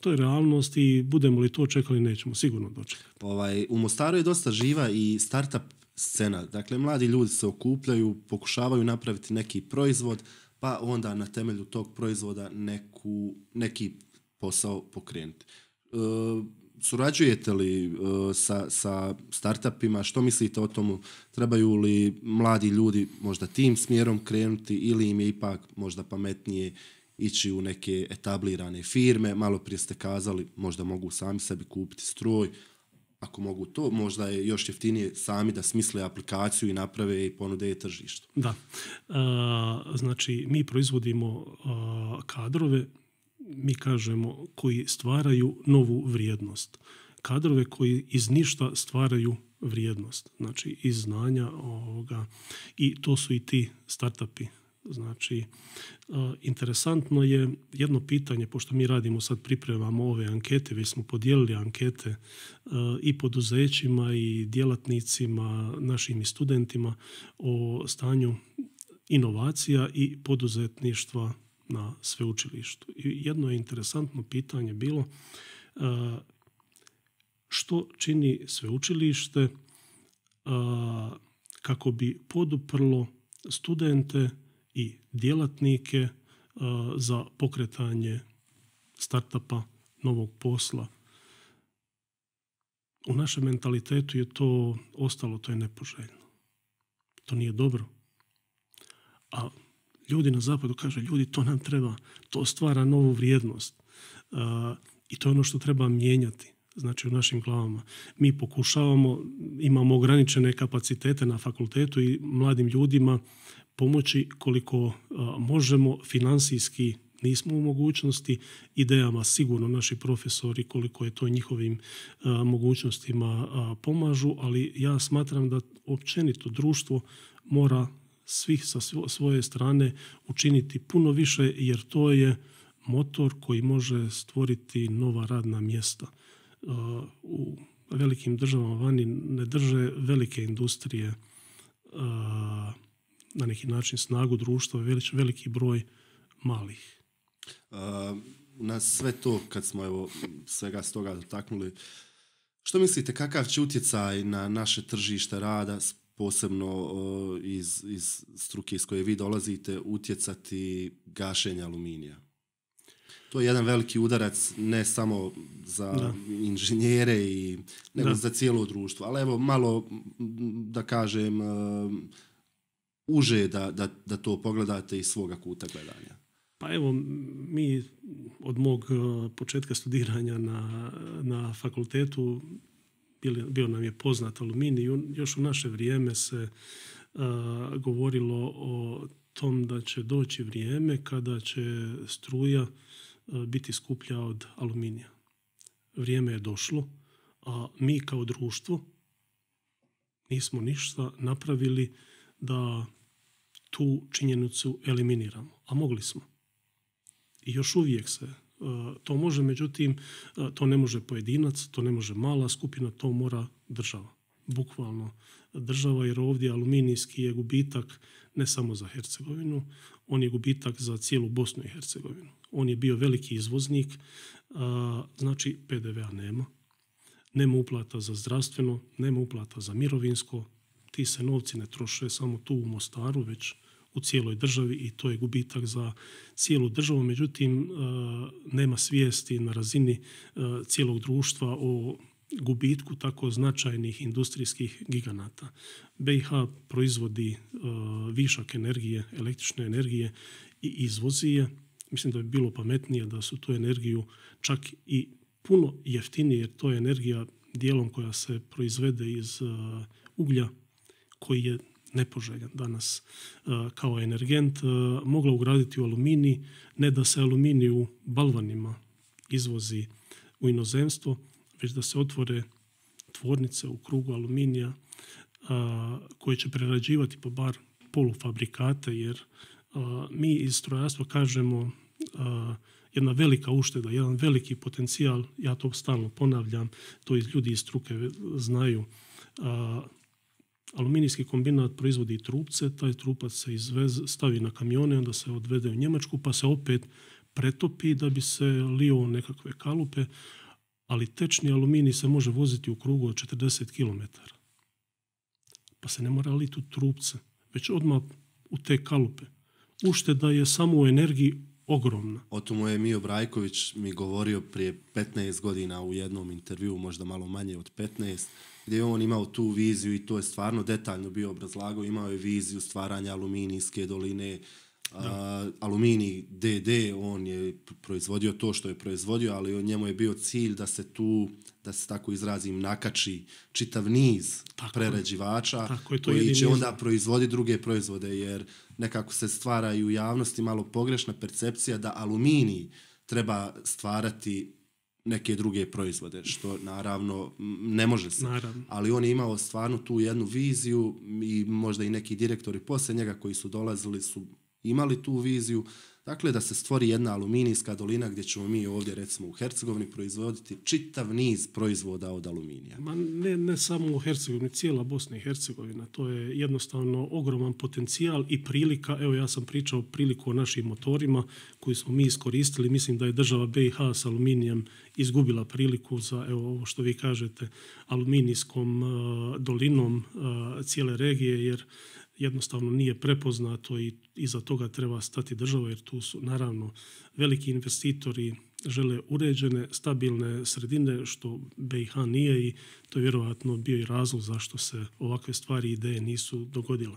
To je realnost i budemo li to čekali, nećemo sigurno dočekati. Ovaj, u Mostaru je dosta živa i startup scena. Dakle, mladi ljudi se okupljaju, pokušavaju napraviti neki proizvod, pa onda na temelju tog proizvoda neku, neki posao pokrenuti. E, surađujete li e, sa, sa startupima? Što mislite o tomu? Trebaju li mladi ljudi možda tim smjerom krenuti ili im je ipak možda pametnije ići u neke etablirane firme? Malo prije ste kazali, možda mogu sami sebi kupiti stroj. Ako mogu to, možda je još jeftinije sami da smisle aplikaciju i naprave i ponude tržištu. Da. A, znači, mi proizvodimo a, kadrove, mi kažemo, koji stvaraju novu vrijednost. Kadrove koji iz ništa stvaraju vrijednost. Znači, iz znanja ovoga. I to su i ti startupi. Znači, a, interesantno je jedno pitanje, pošto mi radimo sad, pripremamo ove ankete, već smo podijelili ankete a, i poduzećima i djelatnicima, našim i studentima o stanju inovacija i poduzetništva na sveučilištu. I jedno je interesantno pitanje bilo a, što čini sveučilište a, kako bi poduprlo studente i djelatnike a, za pokretanje startupa, novog posla. U našem mentalitetu je to ostalo, to je nepoželjno. To nije dobro. A ljudi na zapadu kaže, ljudi, to nam treba, to stvara novu vrijednost. A, I to je ono što treba mijenjati. Znači u našim glavama. Mi pokušavamo, imamo ograničene kapacitete na fakultetu i mladim ljudima pomoći koliko a, možemo, financijski nismo u mogućnosti, idejama sigurno naši profesori koliko je to njihovim a, mogućnostima a, pomažu, ali ja smatram da općenito društvo mora svih sa svoje strane učiniti puno više, jer to je motor koji može stvoriti nova radna mjesta. A, u velikim državama vani ne drže velike industrije a, na neki način snagu društva, velič, veliki broj malih. Uh, na sve to, kad smo evo svega s toga dotaknuli, što mislite, kakav će utjecaj na naše tržište rada, posebno uh, iz, iz struke iz koje vi dolazite, utjecati gašenje aluminija? To je jedan veliki udarac ne samo za da. inženjere, i, nego da. za cijelo društvo. Ali evo malo, da kažem, uh, uže da, da, da to pogledate iz svoga kuta gledanja. Pa evo, mi od mog početka studiranja na, na fakultetu bio, bio nam je poznat aluminij. Još u naše vrijeme se uh, govorilo o tom da će doći vrijeme kada će struja uh, biti skuplja od aluminija. Vrijeme je došlo, a mi kao društvo nismo ništa napravili da tu činjenicu eliminiramo, a mogli smo. I još uvijek se uh, to može, međutim, uh, to ne može pojedinac, to ne može mala skupina, to mora država. Bukvalno država, jer ovdje aluminijski je gubitak ne samo za Hercegovinu, on je gubitak za cijelu Bosnu i Hercegovinu. On je bio veliki izvoznik, uh, znači P D V-a nema, nema uplata za zdravstveno, nema uplata za mirovinsko, ti se novci ne troše samo tu u Mostaru, već u cijeloj državi, i to je gubitak za cijelu državu. Međutim, nema svijesti na razini cijelog društva o gubitku tako značajnih industrijskih giganata. B i H proizvodi višak energije, električne energije, i izvozi je. Mislim da bi bilo pametnije da su tu energiju čak i puno jeftinije, jer to je energija dijelom koja se proizvede iz uglja, koji je nepoželjan danas uh, kao energent, uh, mogla ugraditi u aluminij, ne da se aluminij u balvanima izvozi u inozemstvo, već da se otvore tvornice u krugu aluminija uh, koje će prerađivati pa bar polufabrikate, jer uh, mi iz strojarstva kažemo uh, jedna velika ušteda, jedan veliki potencijal, ja to stalno ponavljam, to iz ljudi iz struke znaju. Uh, Aluminijski kombinat proizvodi trupce, taj trupac se izvez, stavi na kamione, onda se odvede u Njemačku, pa se opet pretopi da bi se lio u nekakve kalupe, ali tečni aluminij se može voziti u krugu od četrdeset kilometara. Pa se ne mora liti u trupce, već odmah u te kalupe. Ušteda je samo u energiji ogromna. O tomu je Mijo Brajković mi govorio prije petnaest godina u jednom intervjuu, možda malo manje od petnaest, gdje je on imao tu viziju, i to je stvarno detaljno bio obrazlagao. Imao je viziju stvaranja aluminijske doline, a, aluminij D D, on je proizvodio to što je proizvodio, ali njemu je bio cilj da se tu, da se tako izrazim, nakači čitav niz tako prerađivača tako je, koji će onda proizvoditi druge proizvode, jer nekako se stvara i u javnosti malo pogrešna percepcija da aluminij treba stvarati neke druge proizvode, što naravno ne može se. Naravno. Ali on je imao stvarno tu jednu viziju, i možda i neki direktori poslije njega koji su dolazili su imali tu viziju, dakle da se stvori jedna aluminijska dolina gdje ćemo mi ovdje recimo u Hercegovini proizvoditi čitav niz proizvoda od aluminija. Ma ne, ne samo u Hercegovini, cijela Bosna i Hercegovina, to je jednostavno ogroman potencijal i prilika. Evo, ja sam pričao priliku o našim motorima koji smo mi iskoristili. Mislim da je država B i H s aluminijem izgubila priliku za, evo, ovo što vi kažete, aluminijskom uh, dolinom uh, cijele regije, jer jednostavno nije prepoznato, i iza toga treba stati država, jer tu su naravno veliki investitori, žele uređene, stabilne sredine, što B i H nije, i to je vjerojatno bio i razlog zašto se ovakve stvari i ideje nisu dogodile.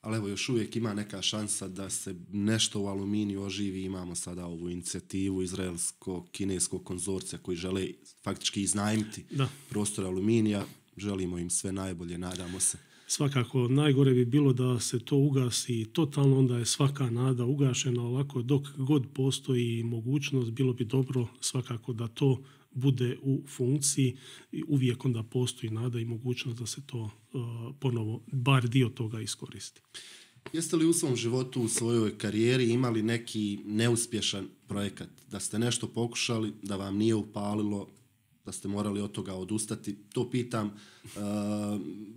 Ali evo, još uvijek ima neka šansa da se nešto u aluminiju oživi. Imamo sada ovu inicijativu izraelsko-kineskog konzorcija koji žele faktički iznajmiti da. prostor aluminija. Želimo im sve najbolje, nadamo se. svakako najgore bi bilo da se to ugasi totalno, onda je svaka nada ugašena. Ovako dok god postoji mogućnost, bilo bi dobro svakako da to bude u funkciji i uvijek onda postoji nada i mogućnost da se to uh, ponovo, bar dio toga iskoristi. Jeste li u svom životu, u svojoj karijeri imali neki neuspješan projekat? Da ste nešto pokušali, da vam nije upalilo, da ste morali od toga odustati? To pitam uh,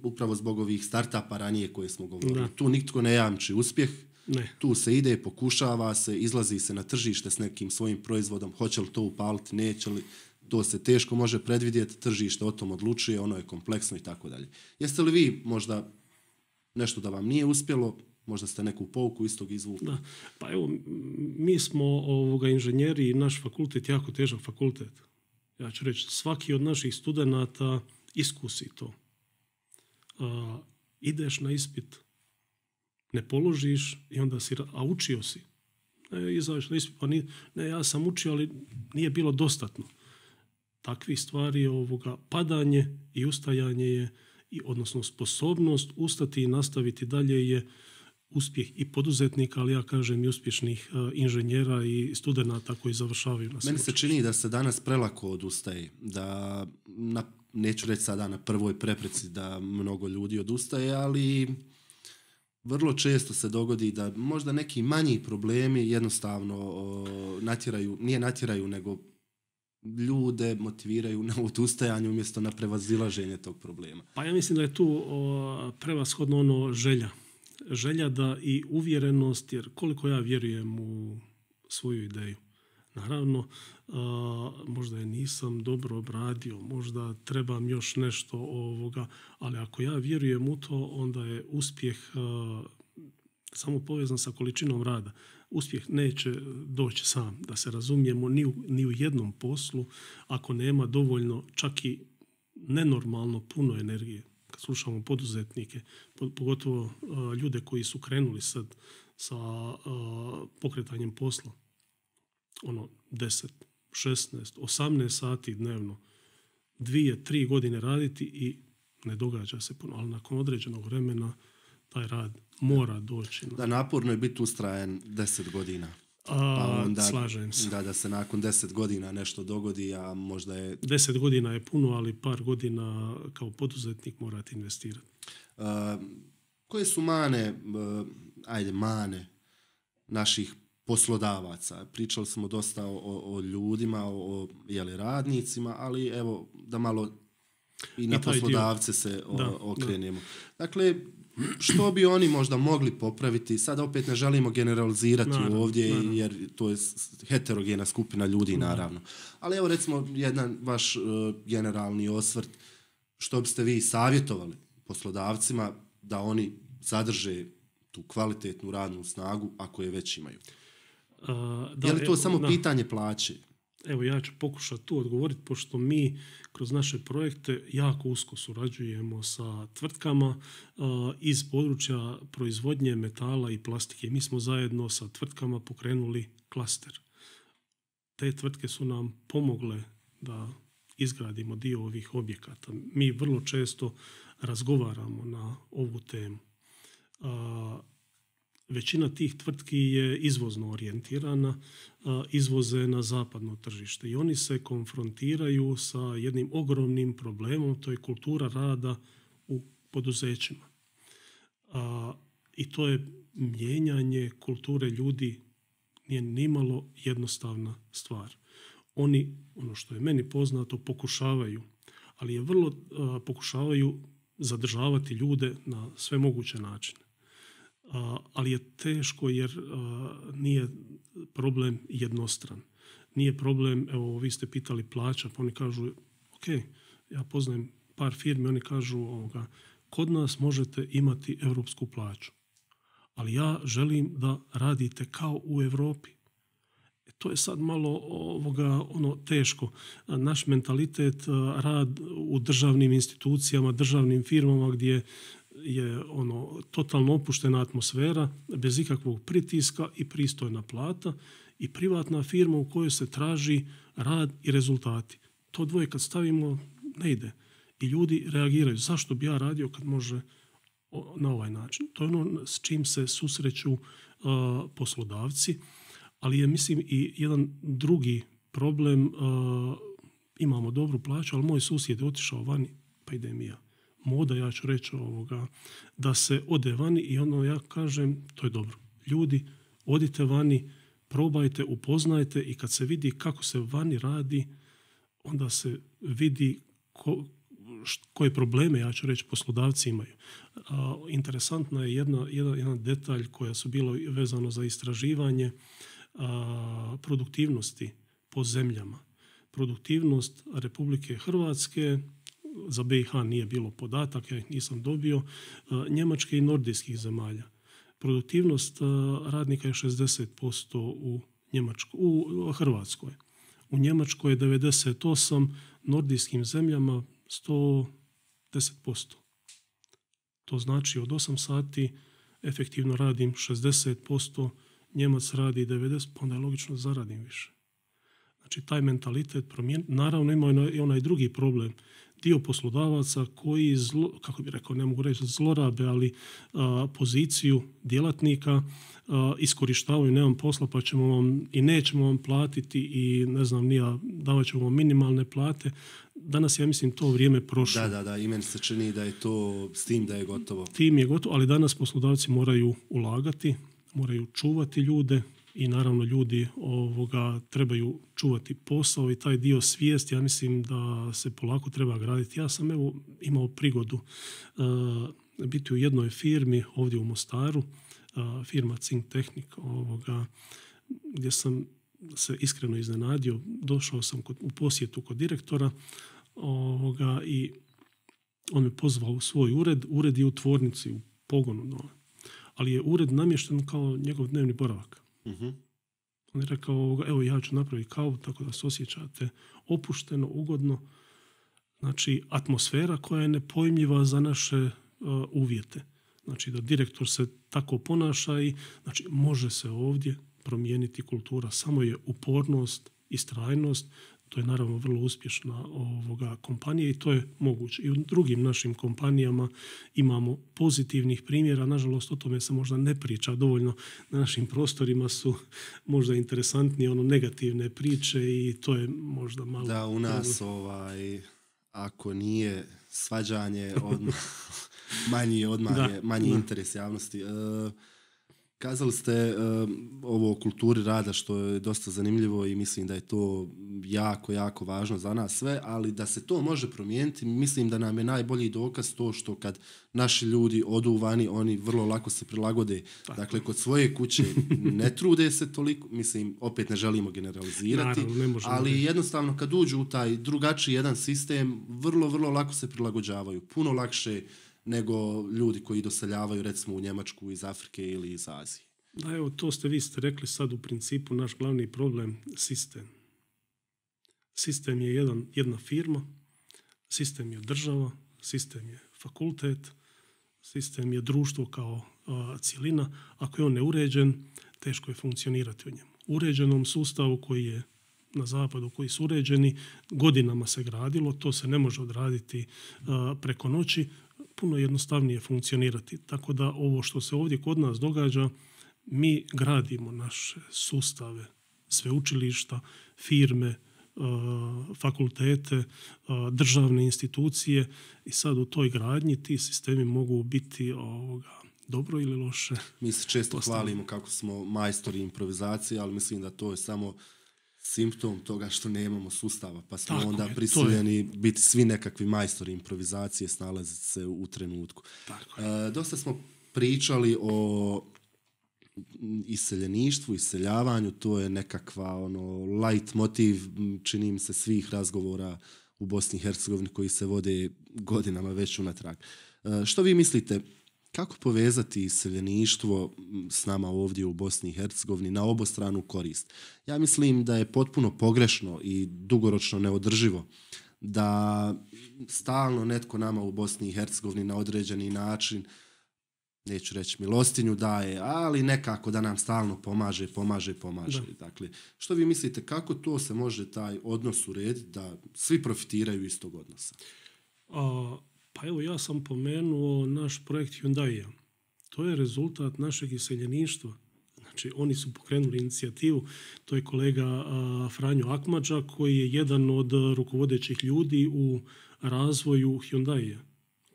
upravo zbog ovih startupa ranije koje smo govorili. Da. Tu nitko ne jamči uspjeh. Ne. Tu se ide, pokušava se, izlazi se na tržište s nekim svojim proizvodom. Hoće li to upaliti, neće li? To se teško može predvidjeti, tržište o tom odlučuje, ono je kompleksno i tako dalje. Jeste li vi možda nešto da vam nije uspjelo, možda ste neku pouku iz tog izvukli? Da. Pa evo, mi smo ovoga inženjeri i naš fakultet jako težak fakultet. Ja ću reći, svaki od naših studenata iskusi to. A, ideš na ispit, ne položiš i onda si, a učio si. Ne, izađeš na ispit, pa nije, ne, ja sam učio, ali nije bilo dostatno. Takvih stvari ovoga padanje i ustajanje je, i, odnosno sposobnost ustati i nastaviti dalje je uspjeh i poduzetnika, ali ja kažem i uspješnih uh, inženjera i studenata koji završavaju na sveučilištu. Meni se čini da se danas prelako odustaje, da na, neću reći sada na prvoj prepreci da mnogo ljudi odustaje, ali vrlo često se dogodi da možda neki manji problemi jednostavno o, natjeraju, nije natjeraju, nego ljude motiviraju na odustajanje umjesto na prevazilaženje tog problema. Pa ja mislim da je tu o, prevashodno ono želja. Želja da i uvjerenost, jer koliko ja vjerujem u svoju ideju. Naravno, a, možda je nisam dobro obradio, možda trebam još nešto ovoga, ali ako ja vjerujem u to, onda je uspjeh a, samo povezan sa količinom rada. Uspjeh neće doći sam, da se razumijemo, ni u, ni u jednom poslu ako nema dovoljno, čak i nenormalno puno energije. Kad slušamo poduzetnike, pogotovo uh, ljude koji su krenuli sad sa uh, pokretanjem posla, ono deset, šesnaest, osamnaest sati dnevno, dvije, tri godine raditi i ne događa se puno, ali nakon određenog vremena taj rad mora doći. Da, naporno je biti ustrajan deset godina. Pa onda, slažem se. Da, da se nakon deset godina nešto dogodi, a možda je... Deset godina je puno, ali par godina kao poduzetnik morate investirati. Uh, koje su mane, uh, ajde, mane naših poslodavaca? Pričali smo dosta o, o ljudima, o, o jeli, radnicima, ali evo da malo i na I poslodavce dio. se o, da, okrenemo. Da. Dakle, što bi oni možda mogli popraviti? Sada opet ne želimo generalizirati naravno, ovdje, naravno. jer to je heterogena skupina ljudi, naravno. Ali evo recimo jedan vaš uh, generalni osvrt, što biste vi savjetovali poslodavcima da oni zadrže tu kvalitetnu radnu snagu ako je već imaju? Uh, da, je li to evo, samo da. pitanje plaće? Evo ja ću pokušati tu odgovoriti, pošto mi kroz naše projekte jako usko surađujemo sa tvrtkama uh, iz područja proizvodnje metala i plastike. Mi smo zajedno sa tvrtkama pokrenuli klaster. Te tvrtke su nam pomogle da izgradimo dio ovih objekata. Mi vrlo često razgovaramo na ovu temu. Uh, Većina tih tvrtki je izvozno orijentirana, izvoze na zapadno tržište i oni se konfrontiraju sa jednim ogromnim problemom, to je kultura rada u poduzećima. I to je mijenjanje kulture ljudi, nije nimalo jednostavna stvar. Oni, ono što je meni poznato, pokušavaju, ali je vrlo pokušavaju zadržavati ljude na sve moguće načine. Uh, ali je teško jer uh, nije problem jednostran. Nije problem, evo vi ste pitali plaća, pa oni kažu, ok, ja poznajem par firmi, oni kažu ovoga, kod nas možete imati europsku plaću, ali ja želim da radite kao u Europi. E, to je sad malo ovoga, ono teško. Naš mentalitet, uh, rad u državnim institucijama, državnim firmama gdje je ono totalno opuštena atmosfera, bez ikakvog pritiska i pristojna plata i privatna firma u kojoj se traži rad i rezultati. To dvoje kad stavimo ne ide. I ljudi reagiraju. Zašto bi ja radio kad može na ovaj način. To je ono s čim se susreću uh, poslodavci, ali je, mislim, i jedan drugi problem. Uh, imamo dobru plaću, ali moj susjed je otišao vani, pa ide mija. Moda, ja ću reći ovoga, da se ode vani i ono ja kažem, to je dobro. Ljudi, odite vani, probajte, upoznajte i kad se vidi kako se vani radi, onda se vidi ko, koje probleme, ja ću reći, poslodavci imaju. A, interesantna je jedna, jedan, jedan detalj koja su bilo vezano za istraživanje a, produktivnosti po zemljama. Produktivnost Republike Hrvatske, za B i H nije bilo podataka, ja ih nisam dobio, a, Njemačke i nordijskih zemalja. Produktivnost a, radnika je šezdeset posto u, Njemačko, u Hrvatskoj. U Njemačkoj je devedeset osam, nordijskim zemljama sto deset posto. To znači od osam sati efektivno radim šezdeset posto, Njemac radi devedeset posto, pa onda je logično zaradim više. Znači taj mentalitet promijen. Naravno ima i onaj drugi problem. Dio poslodavaca koji, zlo, kako bih rekao, ne mogu reći zlorabe, ali a, poziciju djelatnika a, iskorištavaju, nemam posla pa ćemo vam i nećemo vam platiti i ne znam nija, davat ćemo vam minimalne plate. Danas ja mislim to vrijeme prošlo. Da, da, da, i meni se čini da je to s tim da je gotovo. Tim je gotovo, ali danas poslodavci moraju ulagati, moraju čuvati ljude i naravno ljudi ovoga trebaju čuvati posao i taj dio svijesti, ja mislim da se polako treba graditi. Ja sam evo imao prigodu uh, biti u jednoj firmi ovdje u Mostaru, uh, firma Cink Tehnik, ovoga, gdje sam se iskreno iznenadio. Došao sam kod, u posjetu kod direktora ovoga, i on me pozvao u svoj ured. Ured je u tvornici, u pogonu dole. Ali je ured namješten kao njegov dnevni boravak. Uh-huh. On je rekao, evo ja ću napraviti kavu tako da se osjećate opušteno, ugodno. Znači atmosfera koja je nepojmljiva za naše uh, uvjete. Znači da direktor se tako ponaša i znači, može se ovdje promijeniti kultura. Samo je upornost, istrajnost. To je naravno vrlo uspješna ovoga kompanija i to je moguće. I u drugim našim kompanijama imamo pozitivnih primjera. Nažalost, o tome se možda ne priča dovoljno. Na našim prostorima su možda interesantnije ono negativne priče i to je možda malo... Da, u nas ovaj, ako nije svađanje, odmah, manji, odmah da, je manji da. interes javnosti. E, Kazali ste uh, ovo o kulturi rada što je dosta zanimljivo i mislim da je to jako, jako važno za nas sve, ali da se to može promijeniti, mislim da nam je najbolji dokaz to što kad naši ljudi odu vani, oni vrlo lako se prilagode. Tako. Dakle, kod svoje kuće ne trude se toliko, mislim, opet ne želimo generalizirati, Naravno, ne možemo ali ne. jednostavno kad uđu u taj drugačiji jedan sistem, vrlo, vrlo lako se prilagođavaju. Puno lakše nego ljudi koji doseljavaju recimo u Njemačku iz Afrike ili iz Azije. Da, evo, to ste vi ste rekli sad u principu naš glavni problem, sistem. Sistem je jedan, jedna firma, sistem je država, sistem je fakultet, sistem je društvo kao a, cjelina. Ako je on neuređen, teško je funkcionirati u njemu. Uređenom sustavu koji je na zapadu, koji su uređeni, godinama se gradilo, to se ne može odraditi a, preko noći, puno jednostavnije funkcionirati. Tako da ovo što se ovdje kod nas događa, mi gradimo naše sustave, sveučilišta, firme, fakultete, državne institucije i sad u toj gradnji ti sistemi mogu biti ovoga, dobro ili loše. Mi se često postavljeni. hvalimo kako smo majstori improvizacije, ali mislim da to je samo simptom toga što nemamo sustava, pa smo Tako onda je, prisiljeni biti svi nekakvi majstori improvizacije, snalaziti se u trenutku. Tako je. E, dosta smo pričali o iseljeništvu, iseljavanju, to je nekakva ono light motiv, čini mi se, svih razgovora u Bosni i Hercegovini koji se vode godinama već unatrag. E, što vi mislite, kako povezati iseljeništvo s nama ovdje u Bosni i Hercegovini na obostranu korist? Ja mislim da je potpuno pogrešno i dugoročno neodrživo da stalno netko nama u Bosni i Hercegovini na određeni način, neću reći milostinju daje, ali nekako da nam stalno pomaže, pomaže, pomaže. Da. Dakle, što vi mislite, kako to se može taj odnos urediti da svi profitiraju iz tog odnosa? A, Pa evo, ja sam pomenuo naš projekt Hyundai. To je rezultat našeg iseljeništva. Znači, oni su pokrenuli inicijativu. To je kolega a, Franjo Akmadža, koji je jedan od rukovodećih ljudi u razvoju Hyundai,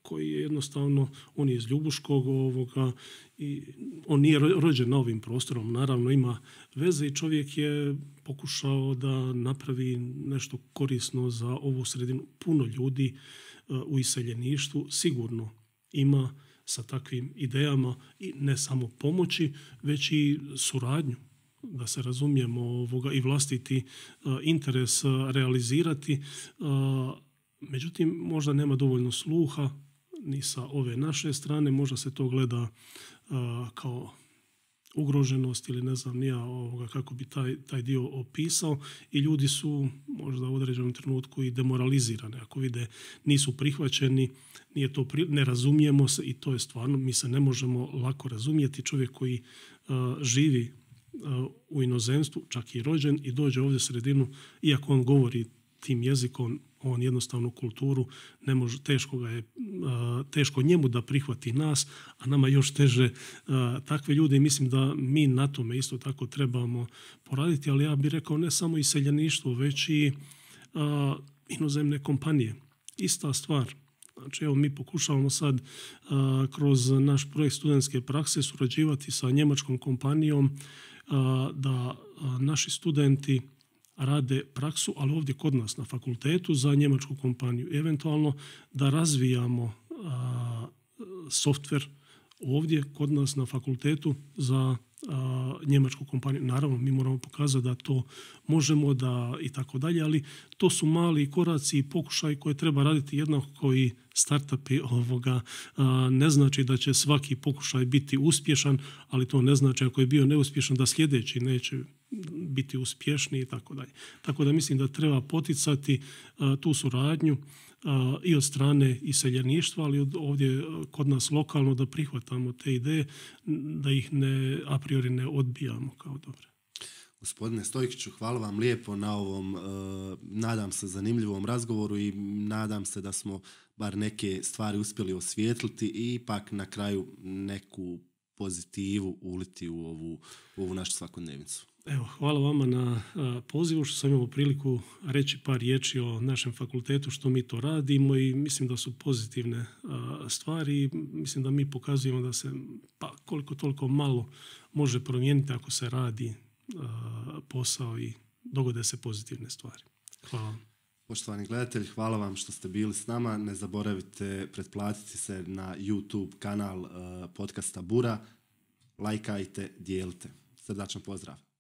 koji je jednostavno, on je iz Ljubuškog ovoga, i on nije rođen na ovim prostorom, naravno ima veze i čovjek je pokušao da napravi nešto korisno za ovu sredinu. Puno ljudi uh, u iseljeništvu sigurno ima sa takvim idejama i ne samo pomoći, već i suradnju, da se razumijemo ovoga, i vlastiti uh, interes uh, realizirati. Uh, međutim, možda nema dovoljno sluha ni sa ove naše strane, možda se to gleda uh, kao ugroženost ili ne znam nija ovoga, kako bi taj, taj dio opisao i ljudi su možda u određenom trenutku i demoralizirani. Ako vide nisu prihvaćeni, nije to pri... ne razumijemo se i to je stvarno, mi se ne možemo lako razumjeti. Čovjek koji uh, živi uh, u inozemstvu, čak i rođen i dođe ovdje u sredinu, iako on govori tim jezikom, on jednostavnu kulturu ne može, teško ga je, teško njemu da prihvati nas, a nama još teže takve ljude i mislim da mi na tome isto tako trebamo poraditi, ali ja bih rekao ne samo iseljeništvo, već i a, inozemne kompanije. Ista stvar. Znači, evo, mi pokušavamo sad a, kroz naš projekt studentske prakse surađivati sa njemačkom kompanijom a, da a, naši studenti rade praksu, ali ovdje kod nas na fakultetu za njemačku kompaniju. Eventualno da razvijamo a, softver ovdje kod nas na fakultetu za a, njemačku kompaniju. Naravno, mi moramo pokazati da to možemo da i tako dalje, ali to su mali koraci i pokušaj koje treba raditi jednako koji startupi ovoga. A, ne znači da će svaki pokušaj biti uspješan, ali to ne znači ako je bio neuspješan da sljedeći neće biti uspješni i tako dalje. Tako da mislim da treba poticati a, tu suradnju a, i od strane iseljeništva, ali od ovdje kod nas lokalno da prihvatamo te ideje, da ih ne a priori ne odbijamo kao dobre. Gospodine Stojkiću, hvala vam lijepo na ovom, uh, nadam se, zanimljivom razgovoru i nadam se da smo bar neke stvari uspjeli osvijetliti i ipak na kraju neku pozitivu uliti u ovu, u ovu našu svakodnevnicu. Evo, hvala vama na a, pozivu što sam imao priliku reći par riječi o našem fakultetu, što mi to radimo i mislim da su pozitivne a, stvari. Mislim da mi pokazujemo da se pa koliko toliko malo može promijeniti ako se radi a, posao i dogode se pozitivne stvari. Hvala vam. Poštovani gledatelji, hvala vam što ste bili s nama. Ne zaboravite pretplatiti se na YouTube kanal uh, podcasta Bura. Lajkajte, dijelite. Srdačan pozdrav.